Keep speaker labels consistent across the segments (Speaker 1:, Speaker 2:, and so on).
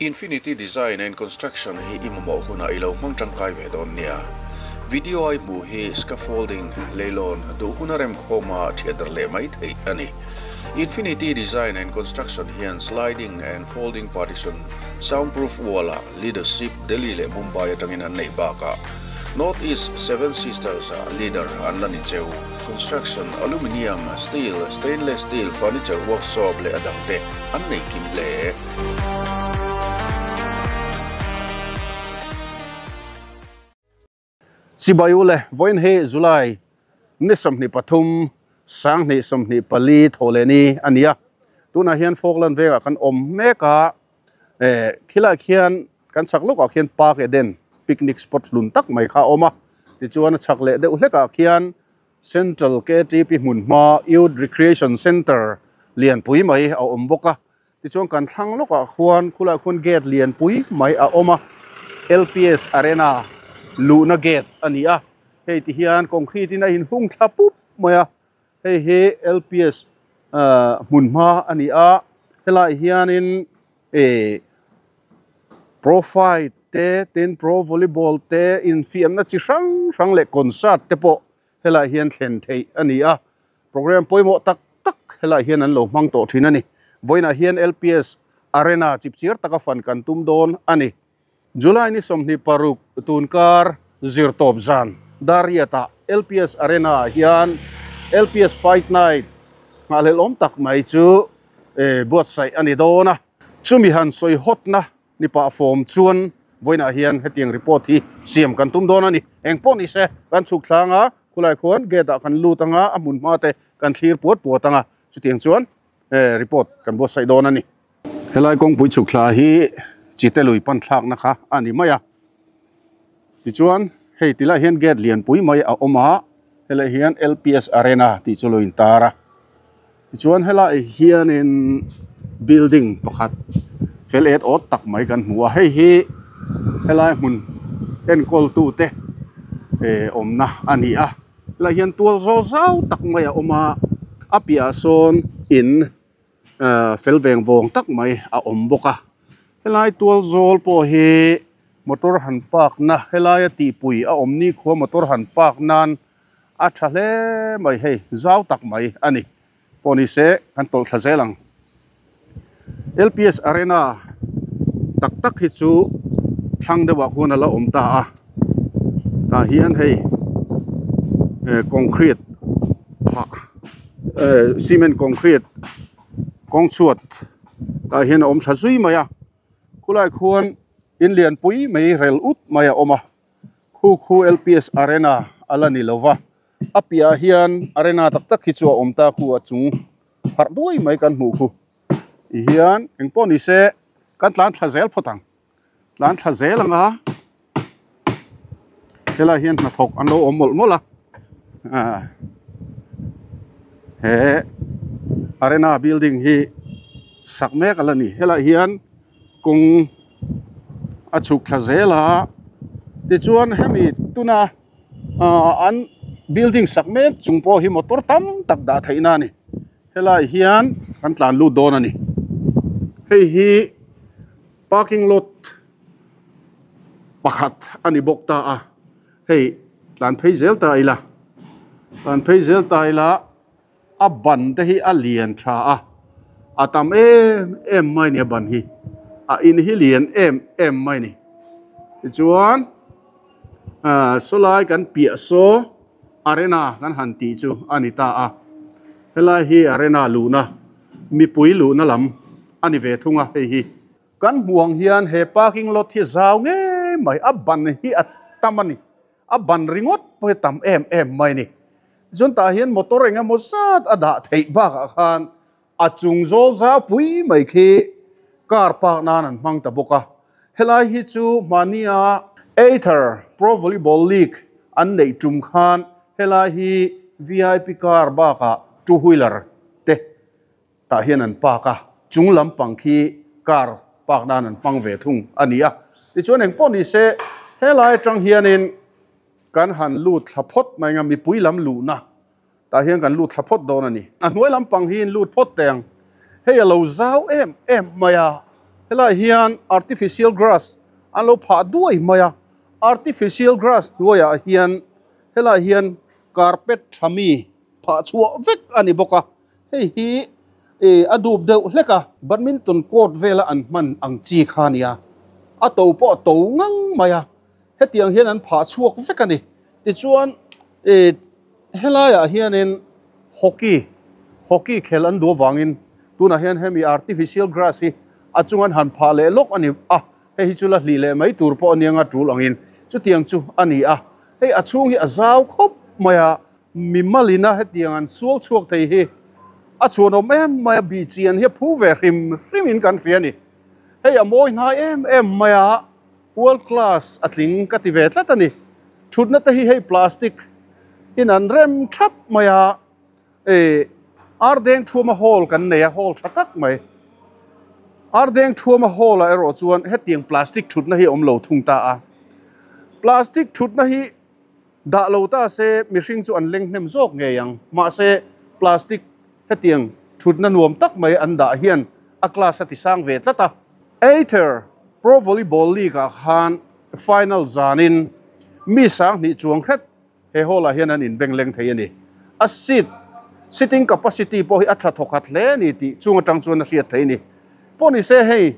Speaker 1: Infinity Design and Construction hi i mamawh hunah i lo hmang tangkai ve dawn nia. Video a i hmuh hi scaffolding, leilawn, duh huna remkhawma thiatdarh leh mai theih a ni. Infinity Design and Construction hian sliding and folding partition, soundproof wall-ah leadership Delhi leh Mumbai atangin an neih bakah North East Seven Sisters-ah leader an la ni cheu. Construction, aluminium, steel, stainless steel, furniture workshop leh a dangte an nei kim hle.
Speaker 2: Chibai u le, vawiin hi July ni 23, 2024 thaw leh ni a ni a. Tunah hian Falkland vengah kan awm mek a, eh khilaiah khian kan chhak lawkah khian Park Eden picnic spot hlun tak mai kha a awm a. Tichuan a chhak leh deuh hlekah khian Central KTP hmun hma Youth Recreation Centre lianpui mai a awm bawk a. Tichuan kan thlang lawkah khuan khulaiah khuan gate lianpui mai a awm a, LPS Arena luhna gate a ni a. Hei ti hian concrete in a inhung thla pup mai a, hei hi LPS hmun hma a ni a. Helaiah hianin ih pro fight te tin pro volleyball te infiamna chi hrang hrang leh concert te pawh helaiah hian thlen theih a ni a program pawimawh tak tak helaiah hian an lo hmang tawh thin a ni vawiinah hian L_P_S arena chipchiar taka fan kan tum dawn a ni July ni 26 tunkar zirtawp zan Dariat-ah L_P_S arena ah hian L_P_S fight night nghahhlelh awm tak mai chu buatsaih a ni dawn a. Chumi han sawi hawtna ni pah fawm chuan vawiinah hian hetiang report hi siam kan tum dawn a ni. Eng pawh ni se kan chhuk thlang a, khulai khuan gate ah kan lut ang a, a hmun hma te kan thlir puat puat ang a, chutiang chuan report kan buatsaih dawn a ni. Helai kawngpui chhuk thla hi Chite lui pan thlakna kha a ni mai a. Tichuan hei tilaiah hian gate lianpui mai a awm a, helaiah hian L_P_S Arena tih chu lo intar a. Tichuan helaiah hianin building pakhat fel et awt tak mai kan hmu a, hei hi helai hmun enkawl tute eh awmna a ni a. Helaiah hian tual zawl zau tak mai a awm a, a piahah sawn in fel veng vawng tak mai a awm bawk a helai tual zawl pawh hi motor han park na helaia tihpui a awm ni khua motor han park nan a tha hle mai hei zau tak mai a ni pawh ni se kan tawlh thla zel ang L_P_S arena tak tak hi chu thlang deuh ah khuan a la awm ta a tah hian hei concrete phah. Cement concrete kawng chhuat tah hian a awm thla zui mai a khulai khuan in lian pui mai rel ut mai a awm a khu khu L_P_S arena a la ni lo va a piahah hian arena tak tak hi chu a awm ta khu a chung harh duai mai kan hmuh khu ti hian engpawh ni se kan tlan thla zel phawt ang tlan thla zel ang a helaiah hian hnathawk an lo awm mawlh mawlh a ah he arena building hi sak mek a la ni helaiah hian kawng a chhuk thla zel a tichuan hemi tuna ah an building sak mek chung pawh hi motor tam tak dah theihna a ni helaiah hian kan tlan lut dawn a ni hei hi. Parking lot pakhat a ni bawk ta a, hei tlan phei zel ta ila, tlan phei zel ta ila a ban te hi a lian tha a, a tam em em mai a ni a ban hi, a in hi lian em em mai a ni. Tichuan ah sawlai kan piah saw arena kan han tih chu a ni ta a, helai hi arena luhna mipui luhna lam a ni ve thung a hei hi. Kan hmuh ang hian he parking lot hi zau ngei mai, a ban hi a tam a ni, a ban ringawt pawh hi tam em em mai a ni. Chuan tah hian motor eng emaw zat a dah theih bakah khan a chung zawl zau pui mai khi car park nan an hmang ta bawk a. Helai hi chu hmahnia Ather Pro Volleyball League an neih tum khan helai hi VIP car bakah two wheeler te tah hian an park a, chung lampang khi car park nan an hmang ve thung a ni a. Tichuan engpawh ni se helai atang hianin kan han lut thla phawt mai ang a, mipui lam luhna tah hian kan lut thla phawt dawn a ni. A hnuai lampang hi in lut phawt teh ang, hei a lo zau em em mai a. Helaiah hian artificial grass an lo phah duai mai a, artificial grass hnuaiah hian helaiah hian carpet tha mi phah chhuah vek a ni bawk a, hei hi ih a dup deuh hlek a, badminton court vela an hman ang chi kha a ni a, a to pawh a to ngang mai a, hetiang hian an phah chhuak vek a ni. Tichuan ih helaiah hianin hockey hockey khel an duh avangin tunah hian hemi artificial grass hi a chung an han phah leh lawk a ni a, hei hi chu la hlih leh mai tur pawh a nia nga tul angin chutiang chu a ni a, hei a chhung hi a zau khawp mai a, mi malina hetiang an sual chhuak thei hi a chhuanawm em mai a, bih chian hi a phu ve hrim hrimin kan hria a ni. Hei a mawi hnai em em mai a, world class a tling ka ti ve tlat a ni. Thutna te hi hei plastic in an rem thap mai a, eh Ardeng Thuama Hall kan nei a, hall tha tak mai. Ardeng Thuama Hall ah erawh chuan hetiang plastic thutna hi a awm lo thung ta a. Plastic thutna hi dah lo ta se mihring chu an leng hnem zawk ngei ang. Mahse plastic hetiang thutna nuam tak mai an dah hian a class a ti sang ve tlat a. Aether Pro Volleyball League ah khan final zanin mi sanghnih chuang hret He hall ah hian an inbeng leng thei a ni. A seat, sitting capacity, pawh hi a tha thawkhat hle a ni tih chung atang chuan a hriat theih a ni. Pawh ni se hei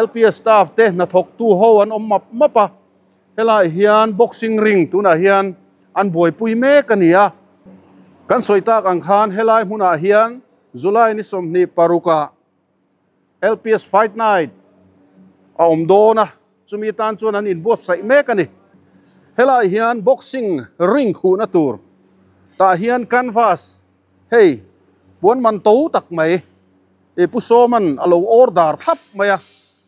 Speaker 2: LPS staff te hnathawktu ho an awm map map a, helaiah hian boxing ring tunah hian an buaipui mek a ni a. Kan sawi tak ang khan helai hmunah hian July ni 26 ah LPS Fight Night a awm dawn a, chumi tan chuan an inbuatsaih mek a ni. Helaiah hian boxing ring khuhna tur tah hian canvas hei puan man to tak mai ih Pu Sawman a lo order thlap mai a,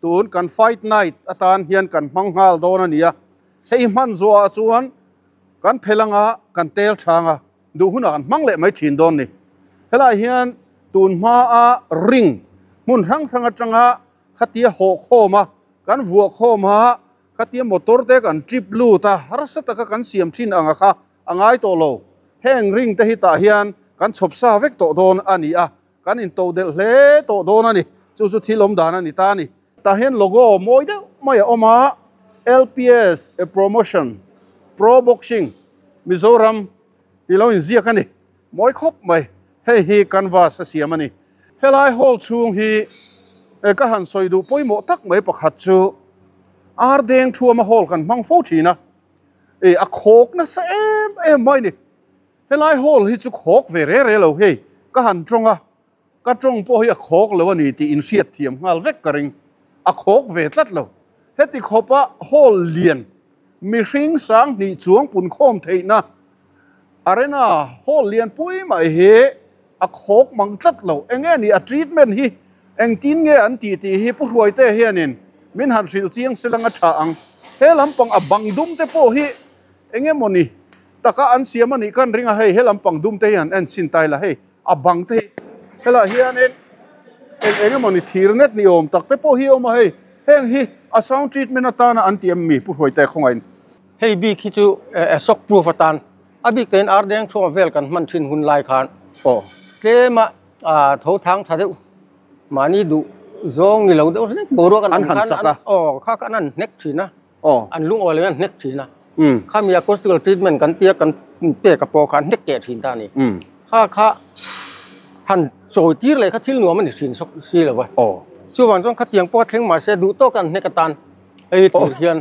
Speaker 2: tun kan Fight Night atan hian kan hmang nghal dawn a ni a, hei hman zuahah chuan kan phel anga kan tel chang a. Duh hunah kan hmang leh mai thin dawn ni. Helaiah hian tun hmaa ring hmun hrang hrang atanga khatia hawh khawm a, kan vuah khawm a, khatia motor te kan trip lut a, harsa taka kan siam thin ang a kha a ngai tawh lo. Heng ring te hi tah hian kan chhawp sa vek tawh dawn a ni a, kan into delh hle tawh dawn a ni. Chu chu thil awm dan a ni ta a ni. Tah hian logo mawi deuh mai a awm a, LPS a promotion pro boxing Mizoram tih lo inziak a ni. Mawi khawp mai. Hei hi canvas a siam a ni. Helai hall chhung hi ka han sawi duh pawimawh tak mai pakhat chu Ardeng Thuama hall kan hmang fo thin a, a khawk nasa em em mai ni. Helai hall hi chu khawk ve re re lo hei ka han tawng a, ka tawng pawh hi a khawk lo a ni tih inhriat thiam nghal vek ka ring. A khawk ve tlat lo. Heti khawpa hall lian mihring sanghnih chuang pun khawm theihna arena hall lian pui mai hi a khawk mang tlat lo. Enge ni a treatment hi engtin nge an tih tih hi Pu Hruaite hianin min han hrilh chiang se lang a tha ang. He lampang a bang dum te pawh hi enge mawni taka an siam a nih kan ring a hei he lampang dum te hi han en chhin ta ila hei a bang te hi helaiah hianin eng eng emawni thir net ni awm tak te pawh hi a awm a hei heng hi a sound treatment atana an ti em mi Pu Hruaite khawngaih in.
Speaker 3: Hei bik hi chu shock proof atan a bik tein ar deng chhuak vel kan hman thin hun lai khan aw tlem a tho thang tha deuh mahni duh zawng ni lo deuh hlek boruak an awm khan aw kha khan an hnek thin a.
Speaker 2: Aw.
Speaker 3: An lungawi lo in an hnek thin a. Khami acoustical treatment kan tia kan pek a pawh kha an hnek keh thin ta a ni. Kha kha han chawi tir leh kha thil nuam a ni thin sawk si lo va.
Speaker 2: Aw.
Speaker 3: Chuvang chuan khatiang pawh a thleng mahse duh tawk a an hnek atan hei thir hian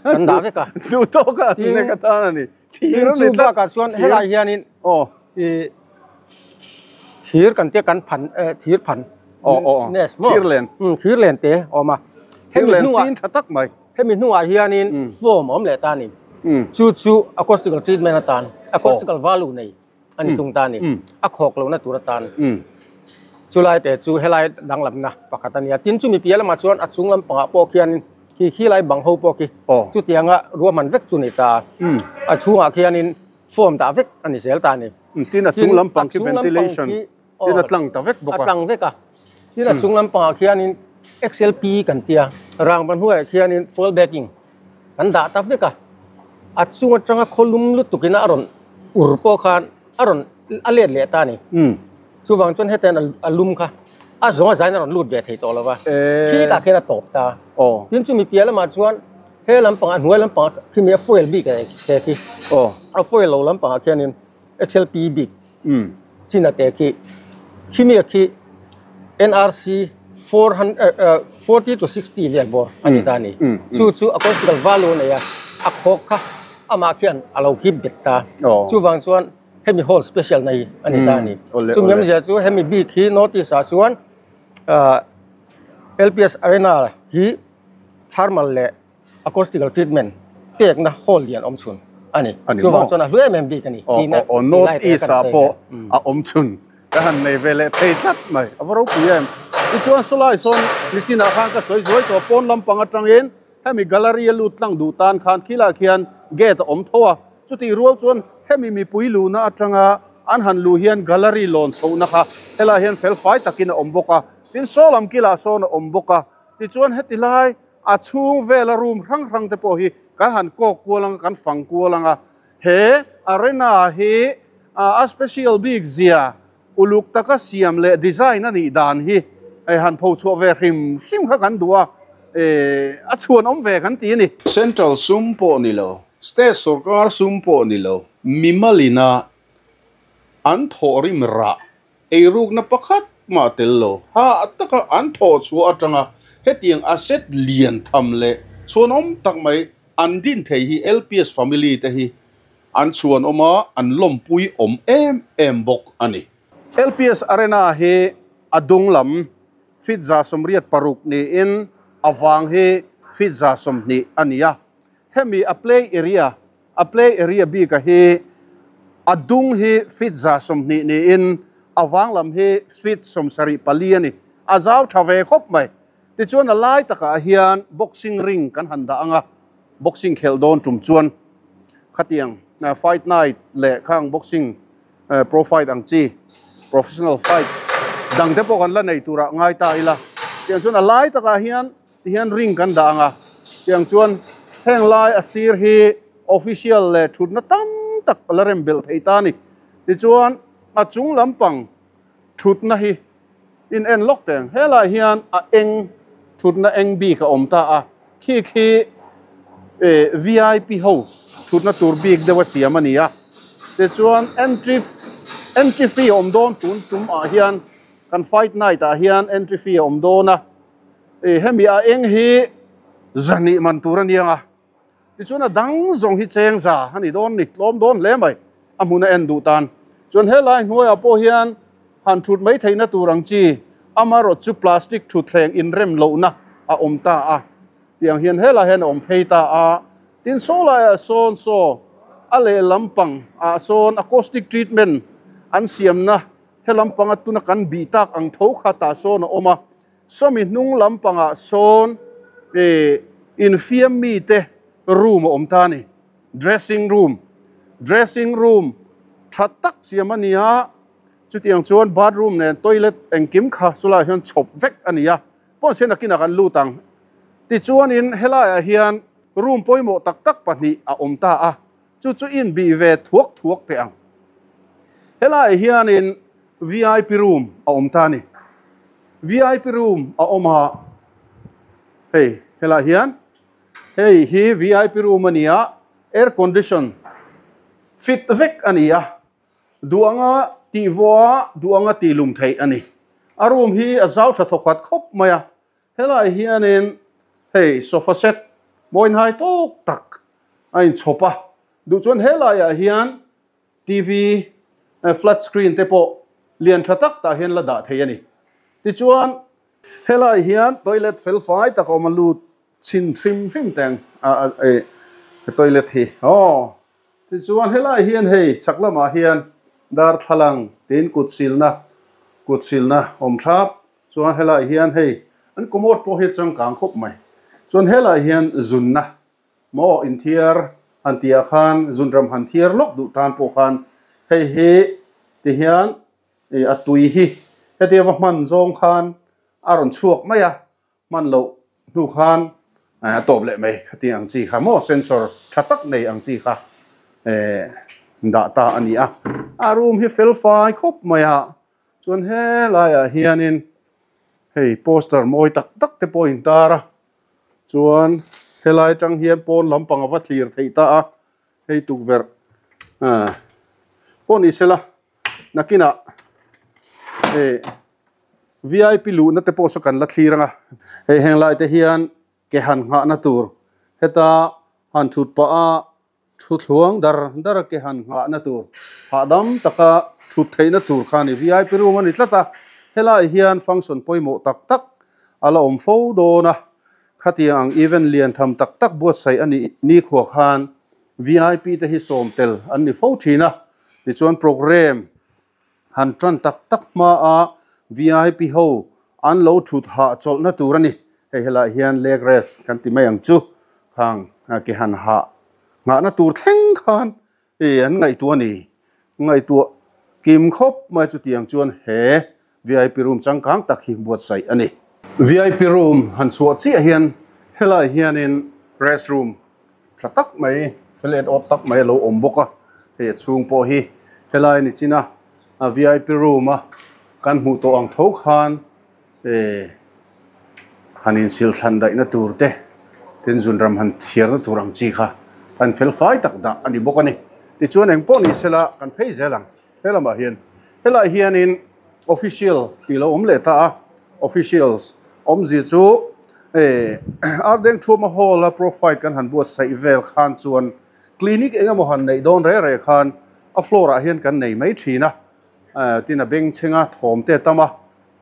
Speaker 3: kan dah vek a.
Speaker 2: Duh tawk a an hnek atan a ni. Thir a ni
Speaker 3: tlat. Chu bakah chuan helai hianin
Speaker 2: aw
Speaker 3: i thir kan tia kan phan thir phan.
Speaker 2: Aw aw aw. Thir len.
Speaker 3: Thir len te a awm a.
Speaker 2: Thir len sin tha tak mai.
Speaker 3: Hemi hnuah hianin foam a awm leh ta a ni. Chu chu acoustical treatment atan, acoustical value nei a ni tung ta a ni. A khawk lohna tur atan. Chulai te chu helai danglamna pakhat a ni a. Tin chumi piah lamah chuan a chung lampangah pawh khianin khi khilai bang ho pawh khi chutianga ruahman vek chu ni ta a. A chhungah khianin foam dah vek a ni zel ta a ni.
Speaker 2: Tin a chung lampang khi ventilation tin a tlang ta vek bawk
Speaker 3: a. A tlang vek a. Tin a chung lampangah khianin XLP kan tia rangva hnuaiah khianin foil backing kan dah ta vek a. A chung atanga khawlum lutukin a rawn ur pawh khan a rawn a let leh ta a ni. Chuvang chuan hetiang a lum kha A zawng a zain a rawn lut ve thei tawh lo va, khi tah khian a tawp ta. Tin chumi piah lamah chuan he lampangah hnuai lampangah khimi a foil bik a te khi a foil lo lampangah khianin XLP bik chin a te khi khimi a khi NRC 440 to 60 vel bawr a ni ta a ni. Chu chu acoustical value a nei a, a khawk kha amah khian a lo keep bet ta. Chuvang chuan hemi hall special nei a ni ta a ni. Chumi awmzia chu hemi bik hi North East ah chuan LPS Arena hi thermal leh acoustical treatment pekna hall lian awm chhun a ni. Chuvang chuan a hlu em em bik a ni.
Speaker 2: North East ah pawh a awm chhun ka han nei ve leh thei tlat mai. A va ropui em. Tichuan sawlai sawn nichinah khan ka sawi zuai tawh pawn lampang atangin Hemi gallery a lut tlang duh tan khan khilah khian gate a awm tho a, chutih rual chuan hemi mipui luhna atanga an han luh hian gallery lawn chhohna kha helaiah hian fel fai takin a awm bawk a, tin saw lam kilah sawn a awm bawk a, tichuan heti lai a chhung vela room hrang hrang te pawh hi kan han kawk kual anga kan fang kual anga he arena hi a special bik zia Uluk taka siam leh design a nih dan hi hei han pho chhuah ve hrim hrim kha kan duh a, a chhuan awm ve kan ti a ni.
Speaker 1: Central sum pawh ni lo, state sorkar sum pawh ni lo, mimalina an thawhrim rah eirukna pakhat mah tel lo, ha taka an thawh chhuah atanga hetiang asset lian tham leh chhuanawm tak mai an din thei hi LPS family te hi An chhuan awm a, an lawmpui awm em em bawk a ni.
Speaker 2: LPS Arena hi a dung lam feet 86 niin a vang hi feet 20 a ni a. Hemi a play area, a play area bika hi a dung hi feet 20 niin a vang lam hi feet 74 a ni. A zau tha ve khawp mai. Tichuan a lai takah hian boxing ring kan han dah ang a. Boxing khelh dawn tum chuan khatiang fight night leh khang boxing pro fight ang chi professional fight dang te pawh kan la nei turah ngai ta ila. Tiang chuan a lai takah hian tihian ring kan dah ang a, tiang chuan heng lai a sir hi official leh thutna tam tak a la rem belh thei ta a ni. Tichuan a chung lampang thutna hi In en lawk teng. Helaiah hian a eng thutna eng bik a awm ta a, khi khi vip ho thutna tur bik deuh a siam a ni a. Tichuan entry entry fee a awm dawn tun tum ah hian kan fight night ah hian entry fee a awm dawn a, hemi a eng hi zahnih man tur a nia nga. Tichuan a dang zawng hi cheng za a ni dawn ni, tlawm dawn hle mai a hmun a en duh tan. Chuan helai hnuaiah pawh hian han thut mai theihna tur ang chi amarawh chu plastic thutthleng inrem lohna a awm ta a, tiang hian helai hian a awm phei ta a. Tin saw laiah sawn saw a lehlam pang ah sawn acoustic treatment an siamna helam panga tuna kan bih tak ang tho kha tah sawn a awm a. Sawmi hnung lampangah sawn ih infiam mite room a awm ta a ni. Dressing room, dressing room tha tak siam a ni a, chutiang chuan bathroom nen toilet engkim kha chulaiah hian chhawp vek a ni a, pawn sian nakinah kan lut ang. Tichuanin helaiah hian room pawimawh tak tak pahnih a awm ta a, chu chu inbih ve thuak thuak teh ang. Helaiah hianin vip room a awm ta a ni. Vip room a awm a, hei helaiah hian hei hi vip room a ni a, air condition fit vek a ni a, duh anga tih vawh a, duh anga tih lum theih a ni. A room hi a zau tha thawkhat khawp mai a, helaiah hianin hei sofa set mawinhai tawk tak a inchhawp a, duh chuan helaiah hian TV flat screen te pawh lian tha tak tah hian la dah thei a ni. Tichuan helaiah hian toilet fel fai tak a awm a, lut chhin hrim hrim teng a toilet hi aw. Tichuan helaiah hian hei chhak lamah hian darthlalang tin kut silna kut silna awm thap. Chuan helaiah hian hei an commode pawh hi a changkang khawp mai. Chuan helaiah hian zunna Maw inthiar han tih ah khan zunram han thiar lawk duh tan pawh khan hei hi ti hian ih a tui hi hetia va hman zawng khan a rawn chhuak mai a, hman loh hnu khan a tawp leh mai khati ang chi kha maw sensor tha tak nei ang chi kha eh dah ta a ni a, a room hi fel fai khawp mai a, chuan helaiah hianin. Hei poster mawi tak tak te pawh a intar a, chuan helai atang hian pawn lampang a va thlir theih ta a, hei tukverh ah pawh ni sela nakinah hei vip luhna te pawh saw kan la thlir ang a, hei heng lai te hian ke han nghahna tur heta han thut pah a Thuthluang dar dar a ke han nghahna tur, hahdam taka thut theihna tur kha a ni. Vip room a ni tlat a, helaiah hian function pawimawh tak tak a la awm fo dawn a. Khatiang ang event lian tham tak tak buatsaih a nih nikhua khan vip te hi sawm tel an ni fo thin a. Tichuan programme han tan tak tak hmaa vip ho an lo thut hah chawlhna tur a ni. Hei helaiah hian leg rest kan ti mai ang chu. Khang ke han hah nghahna tur thleng khan ih an ngaihtuah a ni. Ngaihtuah kim khawp mai chutiang chuan he vip room changkang tak hi buatsaih a ni. Vip room han chhuah chiah hian helaiah hianin rest room Tha tak mai, fel et awt tak mai a lo awm bawk a, hei a chhung pawh hi helai ni chin a, a vip room a kan hmuh tawh ang tho khan eh han insil thlan daihna tur te tin zunram han thiarna tur ang chi kha an fel fai tak dah a ni bawk a ni. Tichuan eng pawh ni sela kan phei zel ang he lamah hian helaiah hianin official tih lo awm leh ta a, officials awmzia chu eh Ardeng Thuama Hall a profile kan han buatsaih vel khan chuan clinic eng emaw han neih dawn reh reh khan a floor ah hian kan nei mai thin a, eh tin a bengchheng a thawm te a tam a,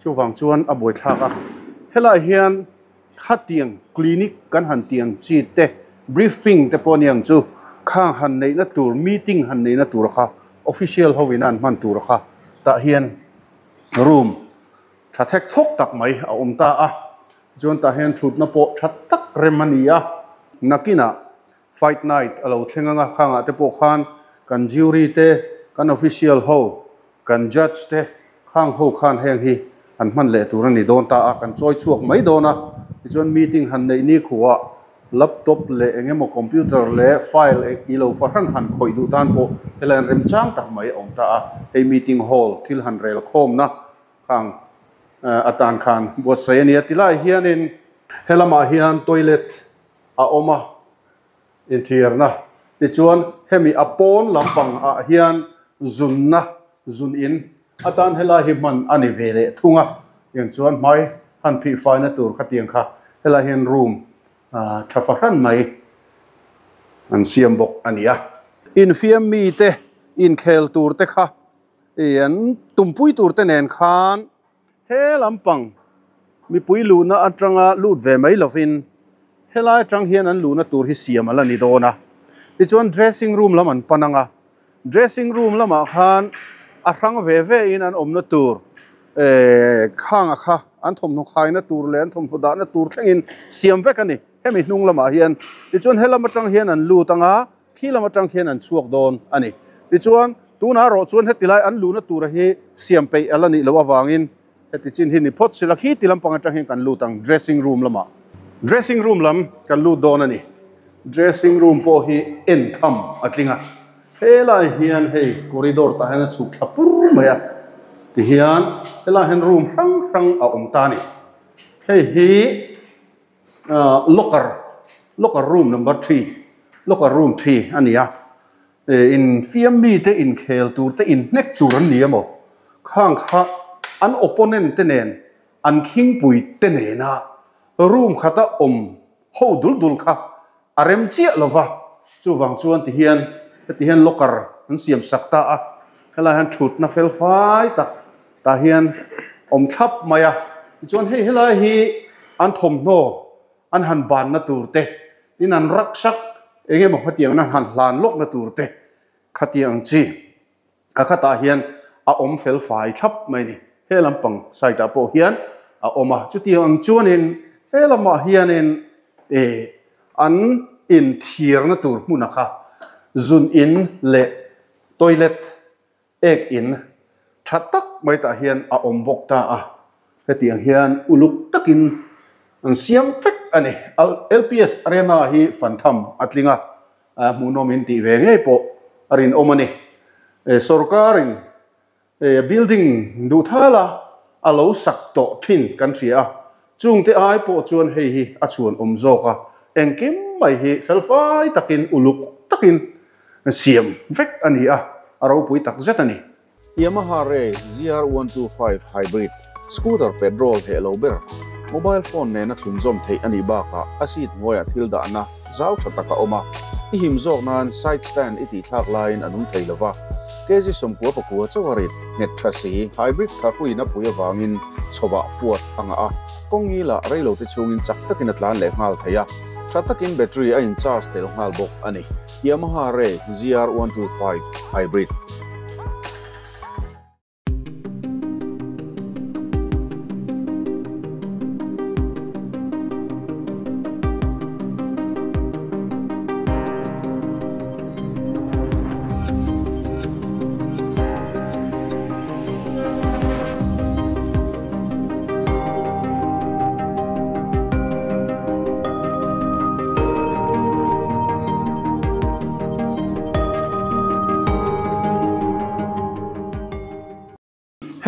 Speaker 2: chuvang chuan a buaithlak a, helaiah hian khatiang clinic kan han tih ang chi te briefing te pawh a ni ang chu khang han neihna tur meeting han neihna tur kha official ho in an hman tur kha tah hian room tha thek thawk tak mai a awm ta a chuan tah hian thutna pawh tha tak rem a ni a nakinah fight night a lo thleng anga khangah te pawh khan kan jury te kan official ho Kan judge te khang ho khan heng hi an hman leh tur a ni dawn ta a, kan chawi chhuak mai dawn a, tichuan meeting han neih ni khuah laptop leh eng emaw computer leh file i lo fahran han khawih duh tan pawh helai an remchang tak mai a awm ta a, hei meeting hall thil han rel khawmna khang atan khan buatsaih a ni a, tilai hianin helamah hian toilet a awm a. Inthiarna tichuan hemi a pawn lampang ah hian zunna zun in atan helai hi hman a ni ve leh thung a, tiang chuan hmai han phih faina tur khatiang kha helai hian room tha fahran mai an siam bawk a ni a. Infiam mite inkhel tur te kha ih an tumpui tur te nen khan He lampang mipui luhna atanga lut ve mai lovin helai atang hian an luhna tur hi siam a la ni dawn a. Tichuan dressing room lam an pan ang a, dressing room lamah khan a hrang ve ve in an awmna tur eh khanga kha an thawmhnaw khaina tur leh an thawmhnaw dahna tur thlengin siam vek a ni. Hemi hnung lamah hian tichuan helam atang hian an lut ang a, Khi lam atang khian an chhuak dawn a ni. Tichuan, tunah erawh chuan heti lai an luhna tura hi siam peih a la nih loh avangin heti chin hi ni phawt sila khi ti lampang atang hian kan lut ang dressing room lamah. Dressing room lam kan lut dawn a ni. Dressing room pawh hi en tham a tling a. Helai hian hei corridor tah hian a chhuk thla pur mai a. Tihian helai hian room hrang hrang a awm ta a ni. Hei hi. Locker locker room number three locker room three a ni a eh in fiam mite inkhel tur te inhnek tur an ni emaw khang kha an opponent te nen an khingpui te nena room khata awm ho dul dul kha a rem chiah lo va chuvang chuan ti hian heti hian locker an siam sak ta a helai hian thutna fel fai tak tah hian awm thlap mai a tichuan hei helai hi an thawmhnaw an han banna tur te tin an raksak eng emaw khatiang an han hlan lawkna tur te khatiang ang chi a khatah hian a awm fel fai thlap mai a ni he lampang side ah pawh hian a awm a chutiang ang chuanin he lamah hianin eh an inthiarna tur hmun a kha zun in leh toilet Ek in tha tak mai tah hian a awm bawk ta a, hetiang hian uluk takin an siam fek a ni. LPS Arena hi fan tham a tling a, hmuhnawm in tih ve ngei pawh a rinawm a ni. Sorkarin building duh thal a. a lo sak tawh thin kan hria a, chungte ai pawh chuan hei hi a chhuan awm zawk a, engkim mai hi felfai takin uluk takin siam vek a ni a, a ropui tak zet a ni.
Speaker 1: Yamaha Ray ZR125 Hybrid scooter petrol heh lo ber, mobile phone nena thlunzawm theih a nih bakah a seat hnuaiah thil dahna zau tha tak a awm a, i him zawk nan side stand i tihthlak laiin a nung thei lo va, kg 99 chauh a rit nghet tha si. Hybrid tharpuiin a pui avangin chhawah fuat a ngah a, kawng ngilah reilote chhungin chak takin a tlan leh nghal thei a, tha takin battery a in charge tel nghal bawk a ni. Yamaha Ray ZR125 Hybrid.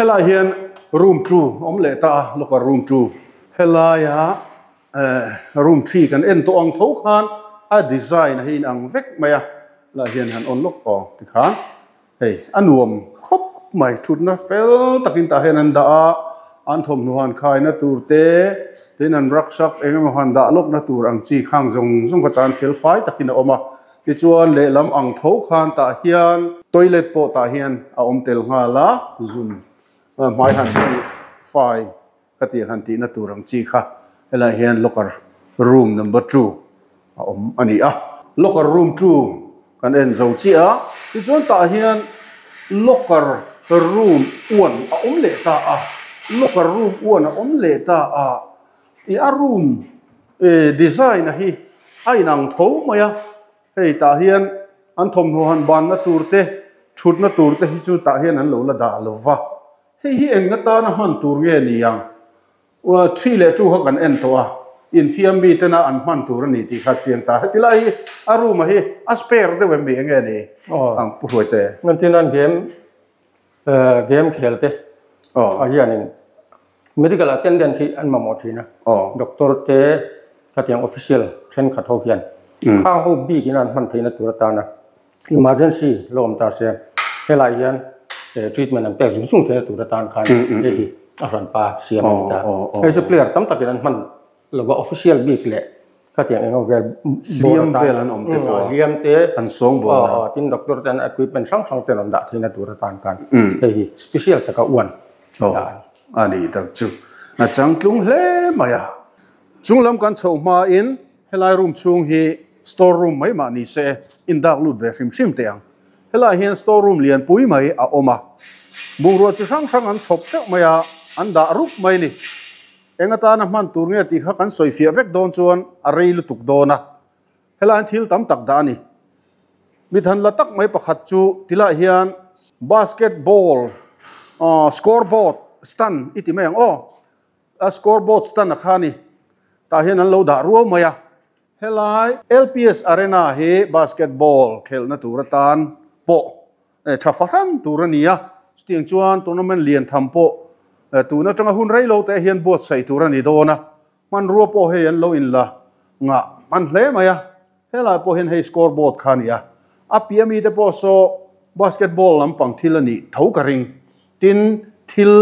Speaker 2: Helai hian room two awm leh ta a, locker room two. Helaia room three kan en tawh ang tho khan a design a hi inang vek mai a, helai hian han on lawk aw tikhan hei a nuam khawp mai thutna fel takin tah hian an dah a, an thawmhnaw han khaina tur te tin an rucksack eng emaw han dah lawkna tur ang chi khang zawng zawng kha tan fel fai takin a awm a. Tichuan lehlam ang tho khan tah hian toilet pawh tah hian a awm tel nghal a, zun hmai han tih fai ka tih han tihna tur ang chi kha helaiah hian locker room number two a awm a ni a. Locker room two kan en zo chiah a, tichuan tah hian locker room one a awm leh ta a, locker room one a awm leh ta a. I a room design a hi a inang tho mai a, hei tah hian an thawmhnaw han banna tur te thutna tur te hi chu tah hian an lo la dah lo va, hei hi engna tana hman tur nge ni ang? Thi leh chu kha kan en tawh a, infiam mi tena an hman tur a ni tih kha chiang ta. Heti lai hi a room a hi a spare deuh em mi enge ni ang Pu Hruaite?
Speaker 3: Engtin an game Game khel te ah hianin medical attendant hi an mamawh thin a, doctor te khatiang official thenkhat ho hian khang ho bik in an hman theihna tur atana emergency lo awm ta se helai hian treatment an pek zung zung theihna tur atan khan hei hi a hranpa siam a ni ta. Hei chu player tam takin an hman Lova official bik leh khatiang eng vel
Speaker 2: hliam vel an awm te pawh a
Speaker 3: hliam te
Speaker 2: an sawng bawl
Speaker 3: a tin doctor ten equipment hrang hrang ten an dah theihna tur atan khan hei hi special taka uan
Speaker 2: dah a ni. A ni tak chu a changtlung hle mai a. Chunglam kan chhoh hmain helai room chhung hi store room mai mah ni se indak lut ve hrim hrim teh ang. Helai hian store room lian pui mai a awm a, bungrua chi hrang hrang an chhawp teuh mai a, an dah rup mai a ni. Eng atana hman tur nge tih kha kan sawi fiah vek dawn chuan a rei lutuk dawn a, helaiin thil tam tak dah a ni. Mithan la tak mai pakhat chu tilaiah hian basketball scoreboard stand i ti mai ang aw, a scoreboard stand a kha a ni, tah hian an lo dah ruau mai a. Helai LPS Arena hi basketball khelhna tur atan pawh tha fahran tur a ni a, chutiang chuan tournament lian tham pawh tun atanga hun rei lo te hian buatsaih tur a ni dawn a, hmanrua pawh hei an lo inla ngah hman hle mai a, helai pawh hian hei scoreboard kha a ni a, a piah mite pawh saw basketball lampang thil a nih tho ka ring. Tin, thil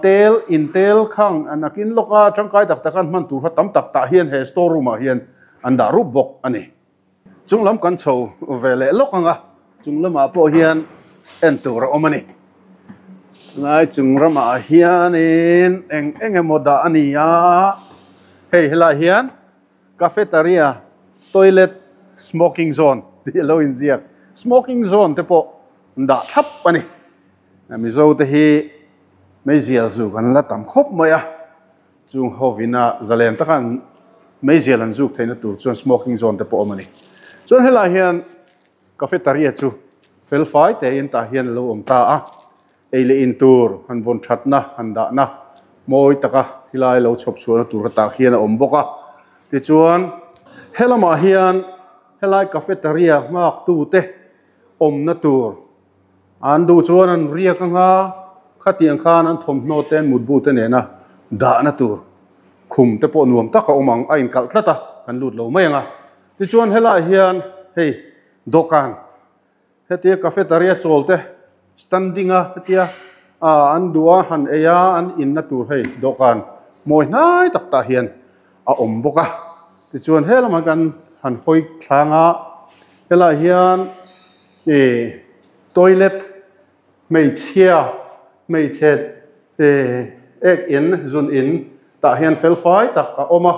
Speaker 2: tel, intel khang nakin lawka tangkai tak tak an hman tur kha tam tak tah hian he store room ah hian an dah rup bawk a ni. Chung lam kan chho ve leh lawk ang a, chung lamah pawh hian en tur a awm a ni. Lai chung ramah hianin eng eng emaw dah a ni a, hei helai hian cafeteria, toilet, smoking zone tih a lo inziak. Smoking zone te pawh dah thlap a ni. Mizo te hi meizial zuk an la tam khawp mai a, chung hovina zalen taka an meizial an zuk theihna tur chuan smoking zone te pawh awm a ni. Chuan helai hian cafeteria chu fel fai tein tah hian a lo awm ta a, ei leh in tur han vawn thatna han dahna mawi taka helai lo chhawp chhuahna tur kha tah hian a awm bawk a. Tichuan helamah hian helai cafeteria nghak tute awmna tur An duh chuan an riak anga, Khatiang khan an thawmhnaw te an mutbu te nena dahna tur khum te pawh nuam tak a awm ang a inkalh tlat a, kan lut lo mai ang a. Tichuan helaiah hian hei dawhkan hetia cafeteria chawl te standing a hetia ah an duh a han ei a an inna tur hei dawhkan mawi hnai tak tah hian a awm bawk a. Tichuan he lamah kan han hawi thlang a, helaiah hian ih toilet Hmeichhia, hmeichhe ek in, zun in tah hian fel fai tak a awm a,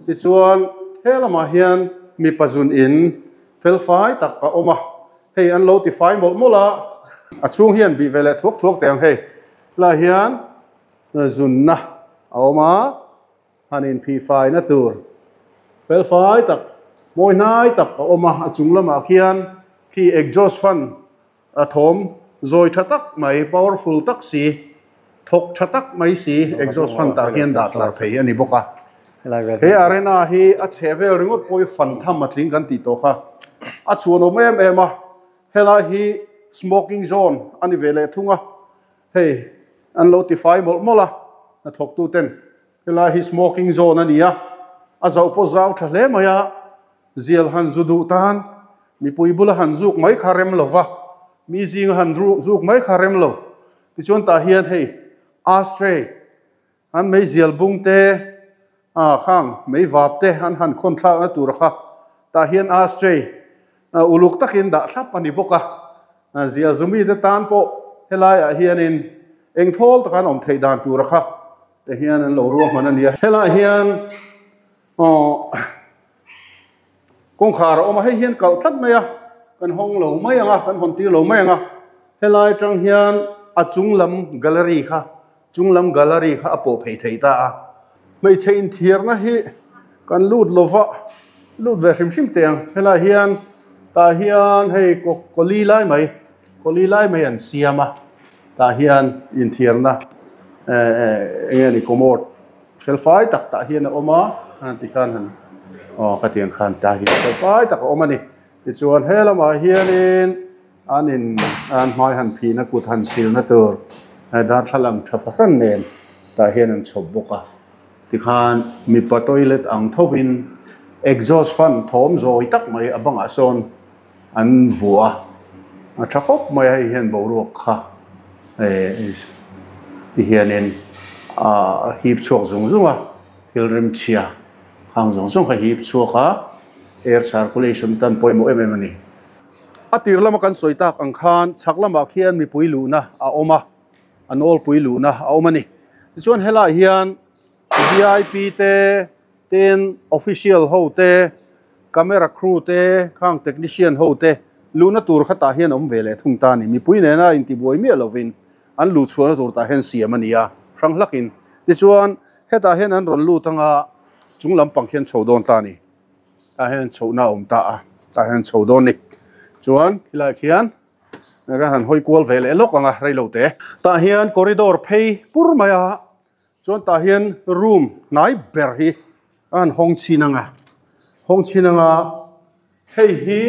Speaker 2: tichuan he lamah hian mipa zun in fel fai tak a awm a, hei an lo ti fai mawlh mawlh a, a chhung hian bih ve leh thuak thuak teh ang hei lah hian zunna a awm a, han inphih faina tur fel fai tak mawi hnai tak a awm a, a chung lamah khian khi exhaust fan A thawm zawi tha tak mai, powerful tak si, thawk tha tak mai si exhaust fan tah hian dah tlar thei a ni bawk a. He arena hi a chheh vel ringawt pawh hi fan tham a tling kan tih tawh kha. A chhuanawm em em a, helai hi smoking zone a ni ve leh thung a, hei an lo tifai mawlh mawlh a, hnathawktu ten helai hi smoking zone a ni a, a zauh pawh zau tha hle mai a. Zial han zu duh tan mipui bula han zuk mai kha rem lo va, mi zinga han zuk mai kha rem lo. Tichuan tah hian hei ashtray an mei zial bung te ah khang mei vap te an han khawn thlakna tur kha tah hian ashtray uluk takin dah thlap a ni bawk a. Zial zu mite tan pawh helaiah hianin eng thawl taka an awm theih dan tura kha te hian an lo ruahman a ni a. Helaiah hian Aw kawngkhar a awm a, hei hian kalh tlat mai a, kan hawng lo mai ang a, kan hawn tir lo mai ang a, helai atang hian a chung lam gallery kha chung lam gallery kha a pawh phei thei ta a, hmeichhe inthiarna hi kan lut lo va, lut ve hrim hrim teh ang, helai hian tah hian hei kaw kawli lai mai kawli lai mai an siam a, tah hian inthiarna eh eng nge ni commode. Fel fai tak tah hian a awm a, tikhan han aw khatiang khan tah hian fel fai tak a awm a ni. Tichuan he lamah hianin an in an hmai han phihna kut han silna tur darthlalang tha fahran nen tah hian an chhawp bawk a. Tikhan mipa toilet ang thovin exhaust fan thawm zawi tak mai a bangah sawn an vuah a, a tha khawp mai a hei hian boruak kha eh ti hianin ah hip chhuak zung zung a thil rimchhia khang zawng zawng kha hip chhuak a air circulation tan pawimawh em em a ni. A tir lama kan sawi tak ang khan chhak lamah khian mipui luhna a awm a, a nawlpui luhna a awm a ni. Tichuan helaiah hian vip te Tin, official ho te, camera crew te, khang technician ho te luhna tur kha tah hian awm ve leh thung ta a ni. Mipui nena intibuai miah lovin an luh chhuahna tur tah hian siam a ni a, hrang hlakin. Tichuan, hetah hian an rawn lut anga chung lampang khian chho dawn ta a ni. Tah hian chhohna a awm ta a, tah hian chho dawn a ni. Chuan, khilaiah khian kan han hawi kual ve leh lawk ang a, reilo te. Tah hian corridor phei pur mai a. Chuan tah hian room hnai ber hi a han hawng chhin ang a, hawng chhin ang a, hei hi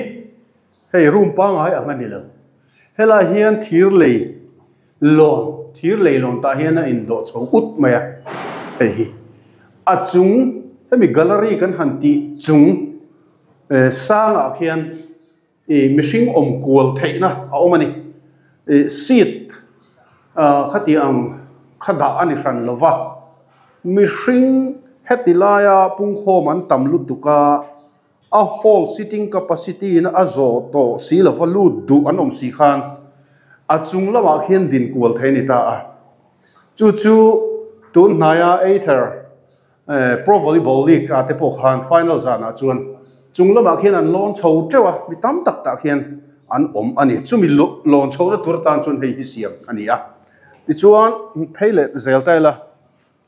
Speaker 2: hei room pangngai ang a ni lo. Helaiah hian thir lei lawn thir lei lawn tah hian a indawh chho ut mai a, hei hi a chung hemi gallery kan han tih chung eh sangah khian Ih mihring awm kual theihna a awm a ni. Ih seat ah khati ang kha dah a ni hran lo va, mihring heti laia pungkhawm an tam lutuk a, a hall sitting capacity in a zawh tawh si lo va lut duh an awm si khan a chung lamah khian din kual thei a ni ta a. Chu chu tun hnaia Ather Pro Volleyball League ah te pawh khan final zanah chuan chung lamah khian an lawn chho teuh a, mi tam tak tah khian an awm a ni. Chumi lawn chhohna tur atan chuan hei hi siam a ni a. Tichuan phei leh zel ta ila,